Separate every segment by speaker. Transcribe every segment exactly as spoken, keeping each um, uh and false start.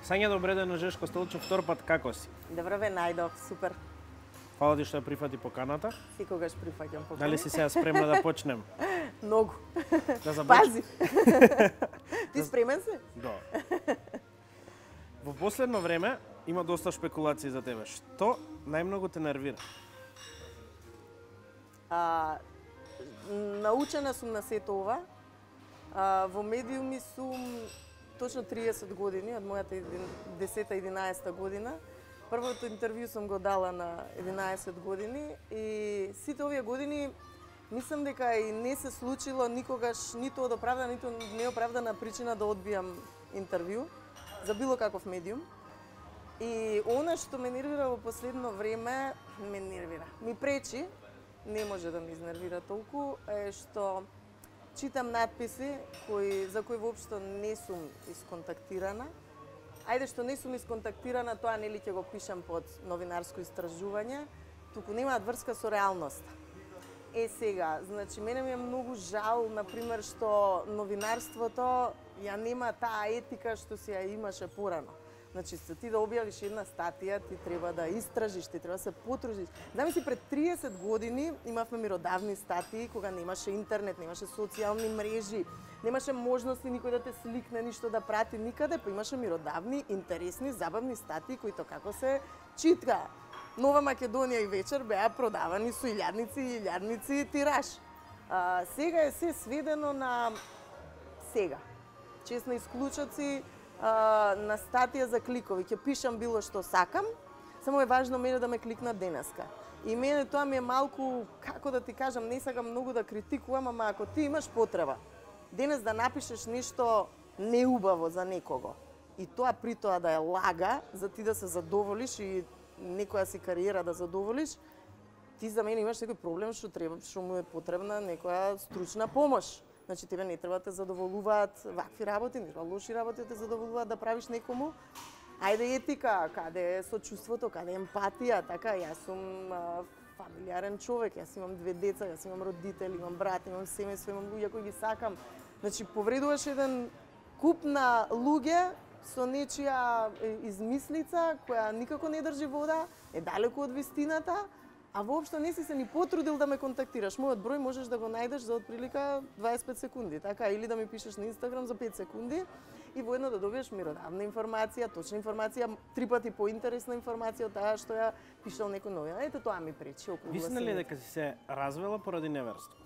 Speaker 1: Сања, добре ден, Жешко Столчев, втор пат, како си?
Speaker 2: Добро ве најдов, супер.
Speaker 1: Фала ти што ја прифати поканата.
Speaker 2: Секогаш прифаќам поканата.
Speaker 1: Дали си сега спремна да почнем?
Speaker 2: Многу.
Speaker 1: Да започнем?
Speaker 2: Пази. Ти спремен си?
Speaker 1: Да. Во последно време има доста шпекулации за тебе. Што најмногу те нервира?
Speaker 2: А, научена сум на сето ова. А, во медиуми сум точно триесет години, од мојата десета-единаесета година. Првото интервју сум го дала на единаесет години и сите овие години мислам дека и не се случило никогаш ниту од оправдана, ниту неоправдана причина да одбијам интервју за било каков медиум. И она што ме нервира во последно време, ме нервира. Ми пречи, не може да ме изнервира толку, е што читам надписи кои, за кои воопшто не сум исконтактирана. Ајде што не сум исконтактирана, тоа нели ќе го пишам под новинарско истражување, туку немаат врска со реалноста. Е сега, значи мене ми е многу жал, например, што новинарството ја нема таа етика што си ја имаше порано. Значи, за ти да објавиш една статија, ти треба да истражиш, ти треба да се потрудиш. Замисли, пред триесет години имавме миродавни статии, кога немаше интернет, немаше социјални мрежи, немаше можности никој да те сликне, ништо да прати никаде, па имаше миродавни, интересни, забавни статии, кои како се читка. Нова Македонија и вечер беа продавани со илјадници и илјадници тираж. А, сега е се сведено на сега. Честно исклучоци, а, на статија за кликови. Ќе пишам било што сакам, само е важно мене да ме кликнат денеска. И мене тоа ми е малку, како да ти кажам, не сакам многу да критикувам, ама ако ти имаш потреба денес да напишеш нешто неубаво за некого, и тоа при тоа да е лага, за ти да се задоволиш и некоја си кариера да задоволиш, ти за мене имаш некој проблем што треба, што му е потребна некоја стручна помош. Значи тебе не треба да те задоволуваат вакви работи, не треба лоши работи да те задоволуваат да правиш некому. Ајде етика, каде е сочувството, каде е емпатија, така, јас сум а, фамилиарен човек, јас имам две деца, јас имам родители, имам брат, имам семејство, имам луѓе кои ги сакам. Значи повредуваш еден куп на луѓе со нечија измислица која никако не држи вода, е далеку од вистината, а воопшто не си се ни потрудил да ме контактираш. Мојот број можеш да го најдеш за отприлика дваесет и пет секунди, така, или да ми пишеш на Инстаграм за пет секунди и воедно да добиеш миродавна информација, точна информација, три пати поинтересна информација од таа што ја пишал некој новина. Ете тоа ми пречи околу.
Speaker 1: Висна ли дека си се развела поради неверство?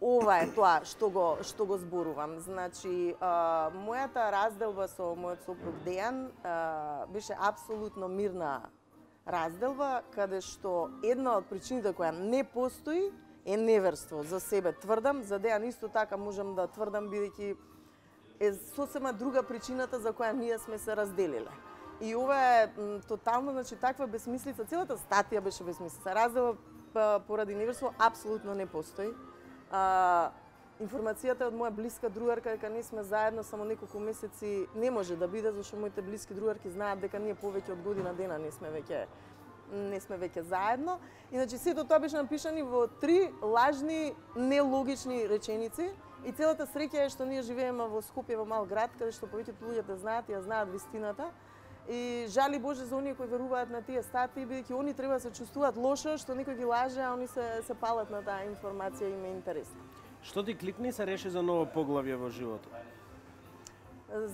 Speaker 2: Ова е тоа што го што го зборувам. Значи, а, мојата разделба со мојот сопруг Дејан а, беше апсолутно мирна разделба, каде што една од причините која не постои е неверство. За себе тврдам, за Дејан исто така можам да тврдам, бидејќи е сосема друга причината за која ние сме се разделиле. И ова е м, тотално, значи, таква безсмислица, целата статија беше безсмислица. Разделба поради неверство апсолутно не постои. А, информацијата од моја блиска другарка дека ние сме заедно само неколку месеци не може да биде, зашто моите блиски другарки знаат дека ние повеќе од година дена не сме веќе не сме веќе заедно. Иначе сето тоа беше напишани во три лажни, нелогични реченици и целата среќа е што ние живееме во Скопје, во мал град, каде што повеќето луѓето знаат и ја знаат вистината. И жали Боже за оние кои веруваат на тие статии, бидејќи они треба да се чувствуваат лошо што некој ги лаже, а они се се палат на таа информација и им е интересна.
Speaker 1: Што ти кликни се реши за ново поглавје во животот?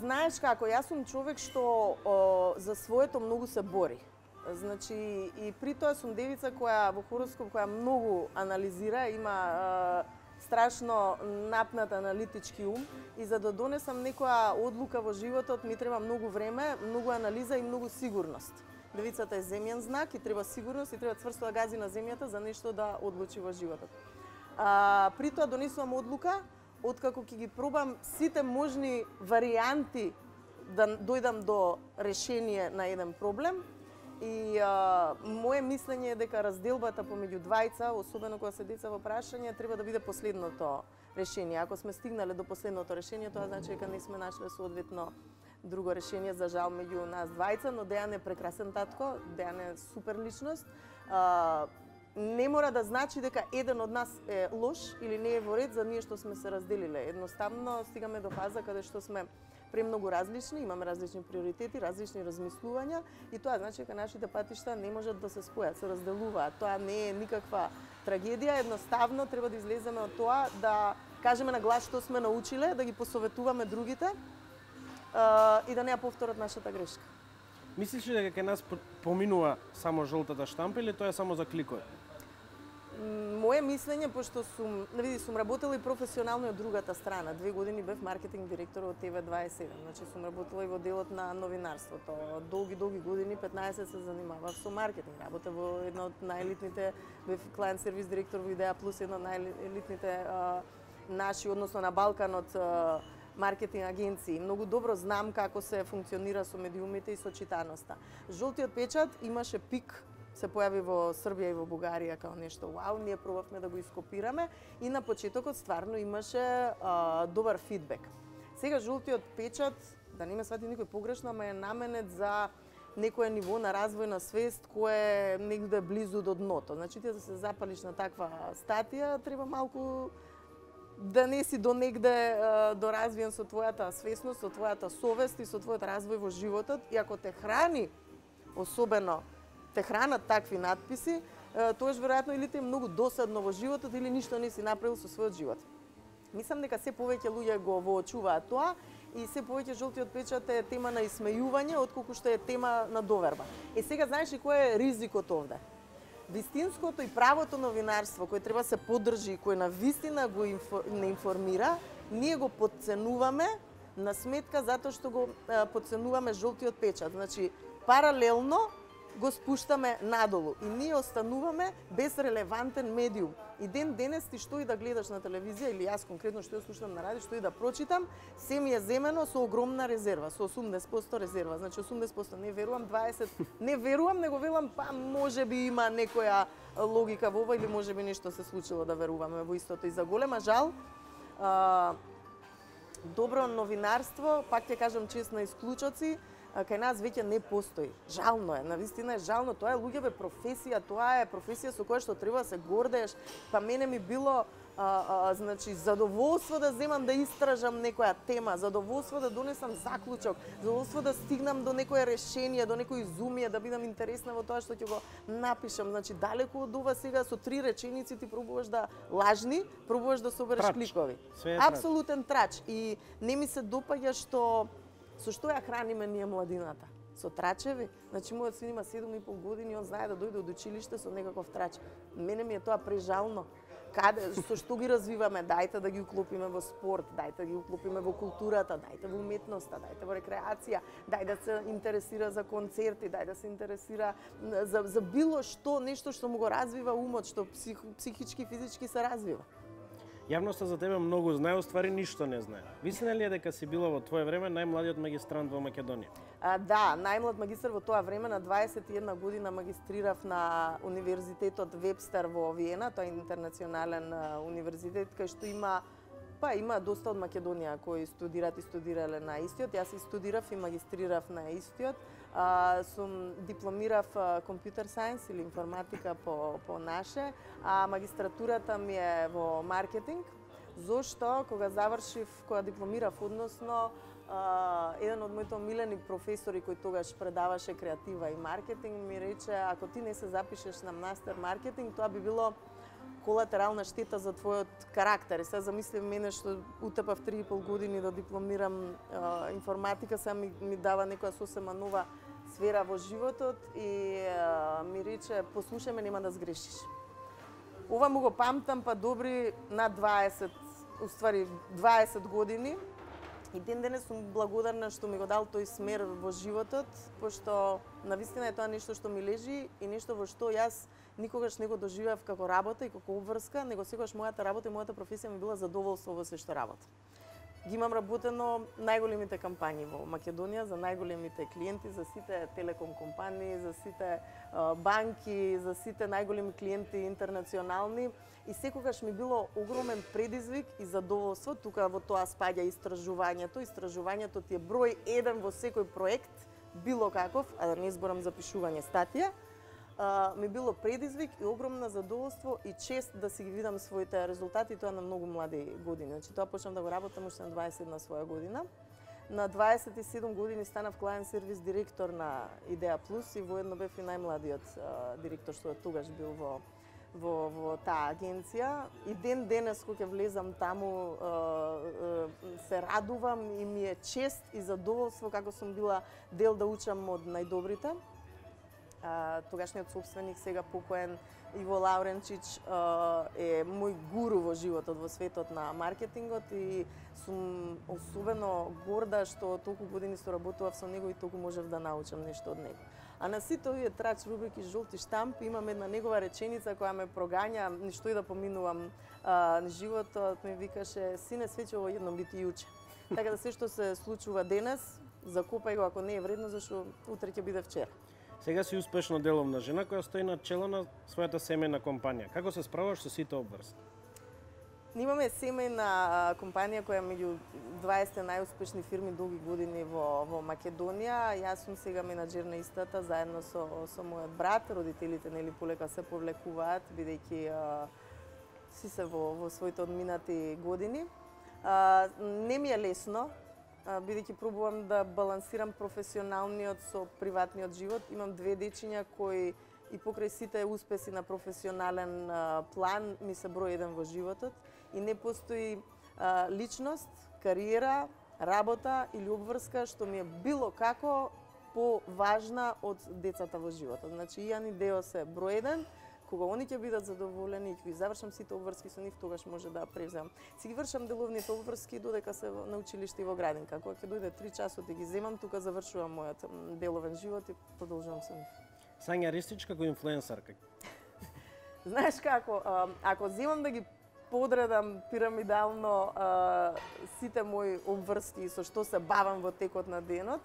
Speaker 2: Знаеш како, јас сум човек што о, за своето многу се бори. Значи, и при тоа сум девица која во хороскоп која многу анализира, има е, страшно напнат аналитички ум и за да донесам некоја одлука во животот ми треба многу време, многу анализа и многу сигурност. Девицата е земјен знак и треба сигурност и треба цврсто да гази на земјата за нешто да одлучи во животот. А, при тоа донесувам одлука, откако ќе ги пробам сите можни варијанти да дојдам до решение на еден проблем. И а, моje мислење е дека разделбата помеѓу двајца, особено кога се деца во прашање, треба да биде последното решение. Ако сме стигнале до последното решение, тоа значи дека не сме нашле соодветно друго решение, за жал, меѓу нас двајца, но Дејан е прекрасен татко, Дејан е супер личност. А, не мора да значи дека еден од нас е лош или не е во ред за ние што сме се разделиле. Едноставно стигаме до фаза каде што сме премногу различни, имаме различни приоритети, различни размислувања и тоа значи дека нашите патишта не можат да се спојат, се разделуваат. Тоа не е никаква трагедија, едноставно треба да излеземе од тоа, да кажеме на глас што сме научиле, да ги посоветуваме другите и да не ја повторат нашата грешка.
Speaker 1: Мислиш ли дека кај нас поминува само жолтата штампа или тоа е само за кликови?
Speaker 2: Моje мислење, пошто сум, види, сум работела и професионално и од другата страна. Две години бев маркетинг директор од Т В дваесет и седум. Значи сум работела и во делот на новинарството. Долги, долги години, петнаесет се занимавав со маркетинг. Работев во една од најелитните, бев клиент сервис директор во Идеја Плюс, една од најелитните наши, односно на Балканот, маркетинг агенции. Многу добро знам како се функционира со медиумите и со читаноста. Жолтиот печат имаше пик, се појави во Србија и во Бугарија као нешто вау, ние пробавме да го ископираме и на почетокот стварно имаше а, добар фидбек. Сега жолтиот печат, да не ме свати никој погрешно, ама е наменет за некое ниво на развојна свест кое е негде близу до дното. Значи ти да се запалиш на таква статија, треба малку да не си до негде доразвиен со твојата свесност, со твојата совест и со твојот развој во животот. И ако те храни, особено те хранат такви надписи, тоаш веројатно или те е многу досадно во животот или ништо не си направил со својот живот. Мислам дека се повеќе луѓе го воочуваат тоа и се повеќе жолтиот печат е тема на исмејување отколку што е тема на доверба. Е сега знаеш ли кој е ризикот овде? Вистинското и правото новинарство кој треба се поддржи и кој на вистина го инфор... не информира, ние го подценуваме на сметка затоа што го подценуваме жолтиот печат. Значи паралелно го спуштаме надолу и ние остануваме без релевантен медиум. И ден денес ти што и да гледаш на телевизија или јас конкретно што ја слушам на радио, што и да прочитам, се ми е земено со огромна резерва, со осумдесет проценти резерва. Значи осумдесет проценти не верувам, дваесет проценти не верувам, него велам па можеби има некоја логика во ова или можеби нешто се случило да веруваме во истото. И за голема жал, а, добро новинарство, пак ќе кажам чест на исклучоци, кај нас веќе не постои. Жално е, навистина е жално, тоа е луѓе бе професија, тоа е професија со која што треба да се гордееш. Па мене ми било а, а, значи задоволство да земам да истражам некоја тема, задоволство да донесам заклучок, задоволство да стигнам до некое решение, до некој изумие, да бидам интересна во тоа што ќе го напишам. Значи далеку од ова сега со три реченици ти пробуваш да лажни, пробуваш да собереш кликови. Апсолутен трач. И не ми се допаѓа што со што ја храниме ние младината? Со трачеви? Значи, мојот син има седум и пол години, он знае да дојде од училиште со некаков трач. Мене ми е тоа прежално. Каде, со што ги развиваме? Дајте да ги уклопиме во спорт, дајте да ги уклопиме во културата, дајте во уметноста, дајте во рекреација, дај да се интересира за концерти, дај да се интересира за, за било што, нешто што му го развива умот, што псих, психички, физички се развива.
Speaker 1: Јавноста за тебе многу знае, оствари ништо не знае. Вистина ли е дека си била во твое време најмладиот магистрант во Македонија?
Speaker 2: А, да, најмлад магистар во тоа време, на дваесет и една година магистрирав на Универзитетот Вебстер во Виена, тоа е интернационален универзитет кај што има па има доста од Македонија кои студираат и студирале на истиот. Јас и студирав и магистрирав на истиот. А, сум дипломирав компјутер сајенс или информатика по, по наше, а магистратурата ми е во маркетинг, зошто кога завршив, кога дипломирав, односно, а, еден од моите омилени професори кој тогаш предаваше креатива и маркетинг ми рече, ако ти не се запишеш на мастер маркетинг, тоа би било колатерална штета за твојот карактер. И сега замислив мене што утепав три и пол години да дипломирам а, информатика, сега ми, ми дава некоја сосема нова сфера во животот и а, ми рече, послушај ме, нема да сгрешиш. Ова му го памтам па добри на дваесет, уствари дваесет години. И ден денес сум благодарна што ми го дал тој смер во животот, пошто навистина е тоа нешто што ми лежи и нешто во што јас никогаш не го доживеав како работа и како обврска, него секогаш мојата работа и мојата професија ми била задоволство во се што работам. Ги имам работено најголемите кампањи во Македонија, за најголемите клиенти, за сите телеком компании, за сите а, банки, за сите најголеми клиенти интернационални. И секогаш ми било огромен предизвик и задоволство. Тука во тоа спаѓа истражувањето. Истражувањето ти е број еден во секој проект, било каков, а да не зборам за пишување статија. Uh, ми било предизвик и огромно задоволство и чест да си ги видам своите резултати, тоа на многу млади години. Значи тоа почнав да го работам уште на дваесет на своја година. На дваесет и седум години станав клиент сервис директор на Идеја Плюс и воедно бев и најмладиот а, директор што тогаш бил во во во таа агенција. И ден денес кога ќе влезам таму а, а, се радувам и ми е чест и задоволство како сум била дел да учам од најдобрите. А, тогашниот собственик, сега покоен Иво Лауренчич, е мој гуру во животот, во светот на маркетингот и сум особено горда што толку години соработував со него и толку можев да научам нешто од него. А на сите овие трач рубрики жолти штампи имам една негова реченица која ме прогања ништо и да поминувам а, животот, ми викаше: сине, свече во едно би ти јуче. Така да се што се случува денес, закопај го ако не е вредно, зашто утре ќе биде вчера.
Speaker 1: Сега си успешно деловна жена која стои на чело на својата семејна компанија. Како се справуваш со сите обврски?
Speaker 2: Имаме семејна компанија која е меѓу дваесет најуспешни фирми долги години во, во Македонија. Јас сум сега менаџер на истата, заедно со, со мојот брат. Родителите нели полека се повлекуваат, бидејќи а, си се во, во своите одминати години. А, не ми е лесно, бидејќи пробувам да балансирам професионалниот со приватниот живот. Имам две дечиња кои и покрај сите успеси на професионален а, план ми се број еден во животот и не постои а, личност, кариера, работа или обврска што ми е било како поважна од децата во животот. Значи, Ијан и Део се број еден. Кога они ќе бидат задоволени и ќе завршам сите обврски со нив, тогаш може да превземам. Си ги вршам деловните обврски додека се на училиште и во градинка. Кога ќе дојде три часот и ги земам, тука завршувам мојот деловен живот и продолжувам со нив.
Speaker 1: Сања Ристич како инфлуенсарка.
Speaker 2: Знаеш како, ако земам да ги подредам пирамидално сите мои обврски со што се бавам во текот на денот,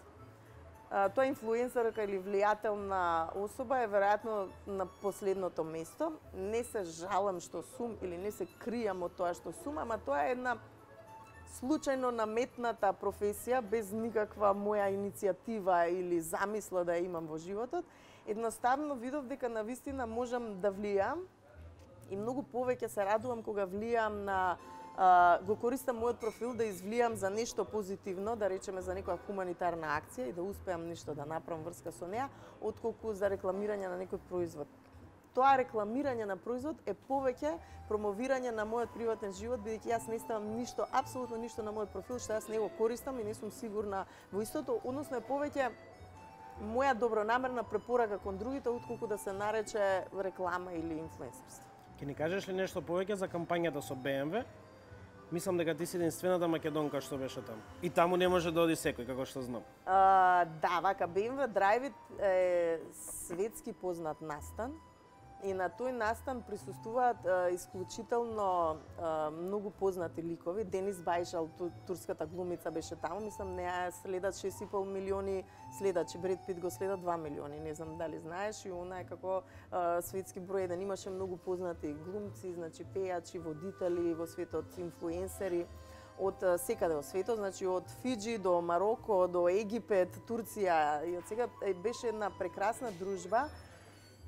Speaker 2: тоа инфлуенсерка или влијателна особа е веројатно на последното место. Не се жалам што сум или не се кријам од тоа што сум, ама тоа е една случајно наметната професија без никаква моја иницијатива или замисла да ја имам во животот. Едноставно видов дека навистина можам да влијам и многу повеќе се радувам кога влијам на Uh, го користам мојот профил да извлијам за нешто позитивно, да речеме за некоја хуманитарна акција и да успеам нешто да направам врска со неа, отколку за рекламирање на некој производ. Тоа рекламирање на производ е повеќе промовирање на мојот приватен живот, бидејќи јас не ставам ништо, апсолутно ништо на мојот профил што јас не го користам и не сум сигурна во истото, односно е повеќе моја добронамерна препорака кон другите, отколку да се нарече реклама или инфлуенсерство.
Speaker 1: Ќе ни кажеш ли нешто повеќе за кампањата со Б М В? Мислам дека ти си единствената македонка што беше таму. И таму не може да оди секој, како што знам.
Speaker 2: Uh, да, вака, Б М В Драйвит е светски познат настан и на тој настан присуствуваат uh, исклучително uh, многу познати ликови. Денис Бајшал, турската глумица, беше таму. Мислам, неа следат шест и пол милиони следачи. Бред Пит го следат два милиони. Не знам дали знаеш. И она е како uh, светски број еден. Имаше многу познати глумци, значи пејачи, водители во светот, инфлуенсери од uh, секаде во светот, значи од Фиџи до Мароко, до Египет, Турција. И од сега беше една прекрасна дружба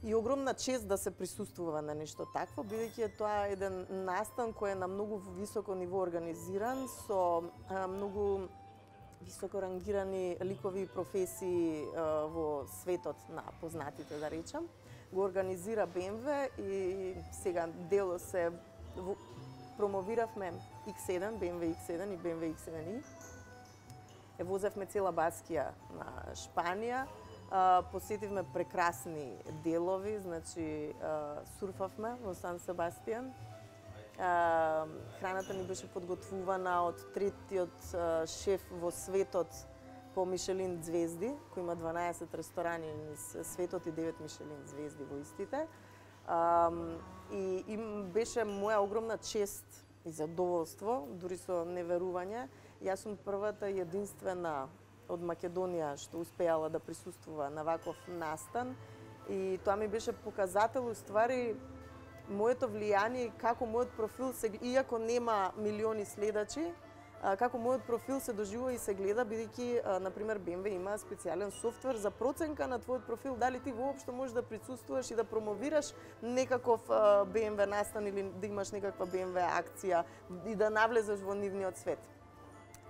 Speaker 2: и огромна чест да се присуствува на нешто такво, бидејќи тоа е еден настан кој е на многу високо ниво организиран, со а, многу високо рангирани ликови и професии а, во светот на познатите, да речам. Го организира Б М В и сега дело се во, промовиравме Икс еден, Б М В Икс еден и Б М В Икс еден и. Е возевме цела Баскија на Шпанија. Uh, посетивме прекрасни делови, значи uh, сурфавме во Сан Себастијан. Uh, храната ни беше подготвувана од третиот uh, шеф во светот по Мишелин звезди, кој има дванаесет ресторани низ светот и девет Мишелин звезди во истите. Uh, и им беше моја огромна чест и задоволство, дури со неверување. Јас сум првата и единствена од Македонија што успеала да присуствува на ваков настан и тоа ми беше показател уствари моето влијание и како мојот профил се, иако нема милиони следачи, како мојот профил се доживува и се гледа, бидејќи на пример Б М В има специјален софтвер за проценка на твојот профил, дали ти воопшто можеш да присуствуваш и да промовираш некаков Б М В настан или да имаш некаква Б М В акција и да навлезеш во нивниот свет.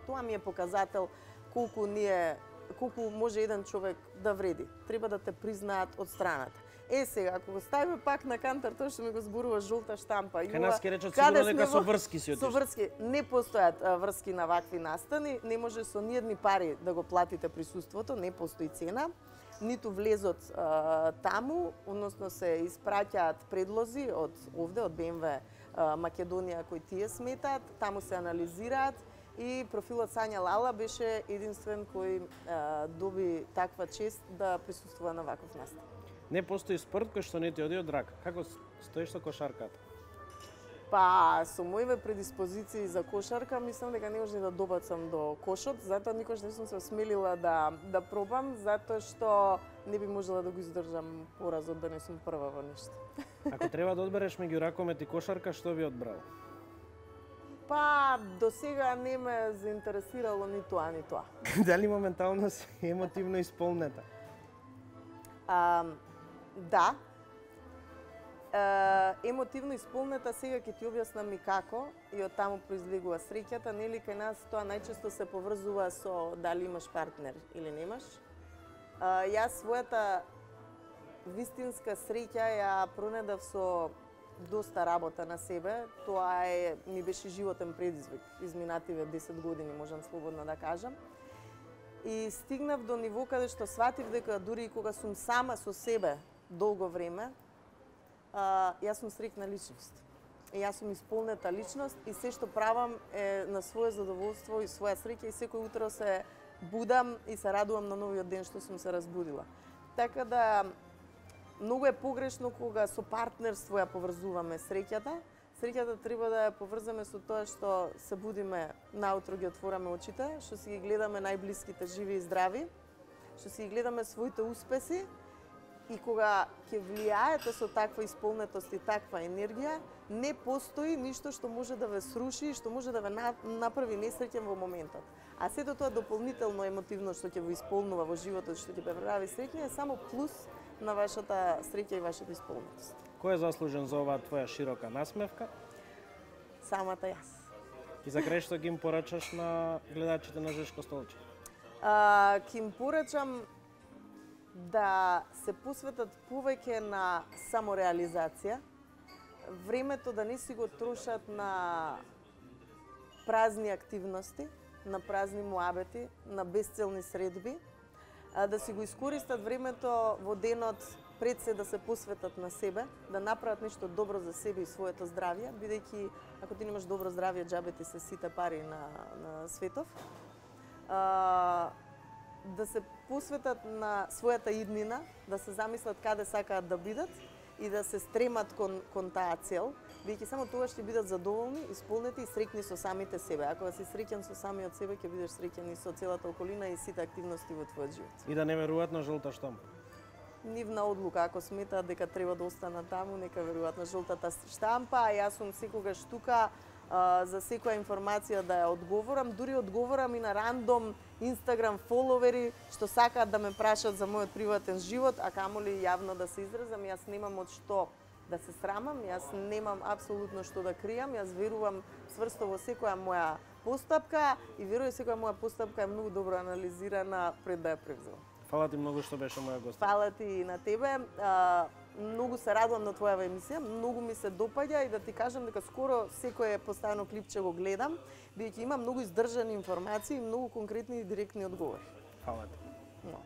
Speaker 2: Тоа ми е показател колку ние колку може еден човек да вреди. Треба да те признаат од страната. Е сега, ако го ставиме пак на кантар, тоа што ми го зборува жолта штампа.
Speaker 1: Кај нас ке речат сигурно дека со врски си отишли.
Speaker 2: Со врски. Не постојат а, врски на вакви настани, не може со ниедни пари да го платите присуството, не постои цена. Ниту влезот а, таму, односно се испраќаат предлози од овде, од Б М В а, Македонија кои тие сметаат, таму се анализираат и профилот Сања Лала беше единствен кој а, доби таква чест да присуствува на ваков настан.
Speaker 1: Не постои спорт кој што не ти оди од рака. Како стоиш со кошарката?
Speaker 2: Па, со моите предиспозиции за кошарка, мислам дека не може да добацам до кошот, затоа никош не сум се осмелила да да пробам, затоа што не би можела да го издржам поразот да не сум прва во нешто.
Speaker 1: Ако треба да одбереш меѓу ракомет и кошарка, што би одбрал?
Speaker 2: Па, до сега не ме заинтересирало ни тоа, ни тоа.
Speaker 1: Дали моментално си емотивно исполнета?
Speaker 2: А, да. Uh, емотивно исполнета, сега ќе ти објаснам и како и од таму произлегува среќата, нели кај нас тоа најчесто се поврзува со дали имаш партнер или немаш. Uh, јас својата вистинска среќа ја пронедав со доста работа на себе. Тоа е ми беше животен предизвик изминативе десет години, можам слободно да кажам. И стигнав до ниво каде што сватив дека дури и кога сум сама со себе долго време, Uh, јас сум среќна личност. И јас сум исполнета личност и се што правам е на свое задоволство и своја среќа и секој утро се будам и се радувам на новиот ден што сум се разбудила. Така да многу е погрешно кога со партнерство ја поврзуваме среќата. Среќата треба да ја поврзаме со тоа што се будиме наутро, ги отвораме очите, што си ги гледаме најблиските живи и здрави, што си ги гледаме своите успеси. И кога ќе влијаете со таква исполнетост и таква енергија, не постои ништо што може да ве сруши, што може да ве направи несреќен во моментот. А сето тоа дополнително емотивно што ќе ви исполнува во животот, што ќе ве прави среќни, е само плюс на вашата среќа и вашата исполнетост.
Speaker 1: Кој е заслужен за оваа твоја широка насмевка?
Speaker 2: Самата јас.
Speaker 1: И за крај што ги им порачаш на гледачите на Жешко Столче?
Speaker 2: А, ќе им порачам да се посветат повеќе на самореализација, времето да не си го трошат на празни активности, на празни муабети, на безцелни средби, а да си го искористат времето во денот пред се да се посветат на себе, да направат нешто добро за себе и своето здравје, бидејќи ако ти немаш добро здравје, џабе ти се сите пари на, на светов. А, да се посветат на својата иднина, да се замислат каде сакаат да бидат и да се стремат кон, кон таа цел, бидејќи само тогаш ќе бидат задоволни, исполнети и среќни со самите себе. Ако си среќен со самиот себе, ќе бидеш среќен и со целата околина и сите активности во твојот живот.
Speaker 1: И да не веруваат на жолта штампа.
Speaker 2: Нивна одлука, ако сметаат дека треба да останат таму, нека веруваат на жолтата штампа, а јас сум секогаш тука а, за секоја информација да ја одговорам, дури одговорам и на рандом Инстаграм фоловери што сакаат да ме прашат за мојот приватен живот, а камоли јавно да се изразам. Јас немам од што да се срамам, јас немам апсолутно што да кријам, јас верувам цврсто во секоја моја постапка и верувам секоја моја постапка е многу добро анализирана пред да ја превземам.
Speaker 1: Фала ти многу што беше моја гост.
Speaker 2: Фала ти и на тебе. А, многу се радувам на твојава емисија, многу ми се допаѓа и да ти кажам дека скоро секое постојано клипче го гледам, бидејќи има многу издржани информации и многу конкретни и директни одговори.
Speaker 1: Фала ти.
Speaker 2: No.